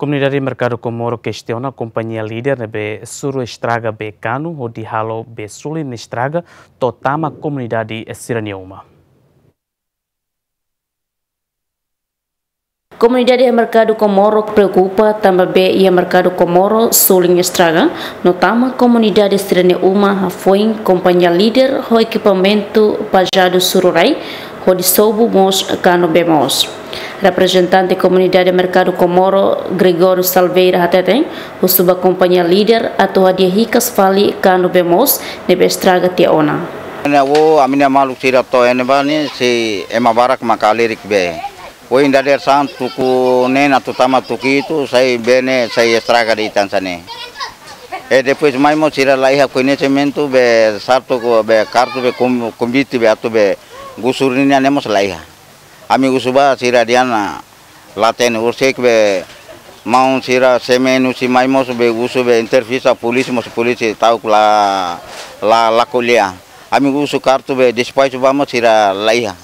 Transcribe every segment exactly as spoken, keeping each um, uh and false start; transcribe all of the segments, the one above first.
Komunidade Merkadu Komoro kestiona kompañia Líder ne'ebé suru estraga bee kanu hodi halo bee sulin estraga to'o tama komunidade sira-nia uma. Komunidade iha Merkadu Komoro preokupa tanba bee iha Merkadu Komoro sulin estraga no tama komunidade sira-nia uma hafoin kompañia Líder ho ekipamentu pajadu suru rai hodi sobu mós kanu bee moos. Reprezentante komunidade Merkadu Komoro, Gregório Salveira, hateten husu ba kompañia Líder atu hadi'a hikas fali kanu bee moos ne'ebé estraga tiha ona. Ne'e, o, ami-nia maluk sira to'o ne'ebá ne'e, sei ema barak maka halerik bee. Ohin dadeer-saan tuku neen atu tama tuku hitu, sai bee ne'e sai estraga de'it hanesan ne'e. E depois mai mós sira la iha koñesimentu bee sartu ko bee kartu bee kom-, konvite bee atu bee gusur nian ne'e mós la iha. Ami husu ba sira dehan la hatene, horiseik bee maun sira C M N husi mai mós bee husu bee entrevista polísia mós polísia ta'uk la, la, la ko'alia. Ami husu kartu bee despaxu ba mós sira la iha.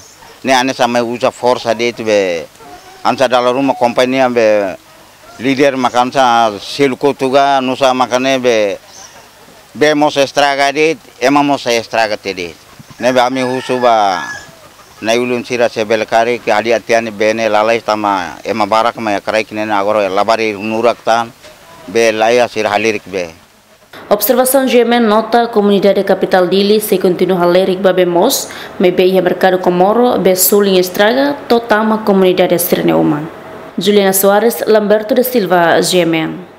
Ne'e hanesan mai uza forsa de'it bee hanesan dala ruma kompañia bee Líder maka hanesan selu kotuk ka nusá maka ne'e bee, bee mós estraga de'it, ema mós estraga tiha de'it. Ne'ebé ami husu ba na'i-ulun sira se bele karik hadi'a tiha ne'e bee ne'e lalais tanba ema barak mai iha kraik ne'e agora labarik nurak tan bee la iha sira halerik bee. Observasaun G M N nota komunidade kapitál Dili sei kontinua halerik ba bee moos, maibé iha Merkadu Komoro bee sulin estraga to'o tama komunidade sira-nia uma. Juliana Soares, Lamberto da Silva, G M N.